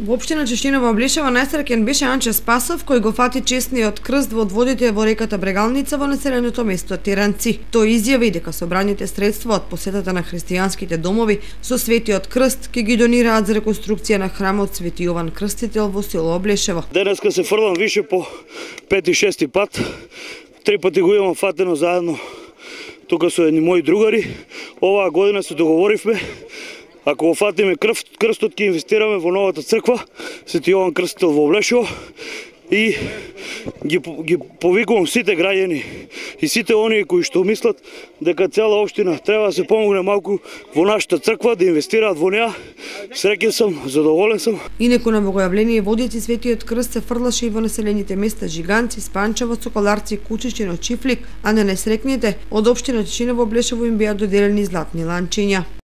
Во општина Чешиново Облешево најсреќен беше Анче Спасов, кој го фати честниот крст во одводите во реката Брегалница во населеното место Теранци. Тој изјави дека собраните средства од посетата на христијанските домови со светиот крст ќе ги донираат за реконструкција на храмот Свети Јован Крстител во село Облешево. Денеска се фрлам више по 5-6 пат. 3 пати го имам фатено заедно тука со едни мои другари. Оваа година се договоривме, ако го фатиме крстот, ќе инвестираме во новата црква Свети Јован Крстител во Облешево и ги повикувам сите граѓани и сите оние кои што мислат дека цела општина треба да се помогне малку во нашата црква, да инвестираат во неа. Среќен сум, задоволен сум. Инаку на богојавление водици Светиот крст се фрлаше и во населените места Жиганци, Спанчево, Соколарци, Кучичино, Чифлик, а на несрекните од општина Чешиново Облешево им беа доделени златни ланчиња.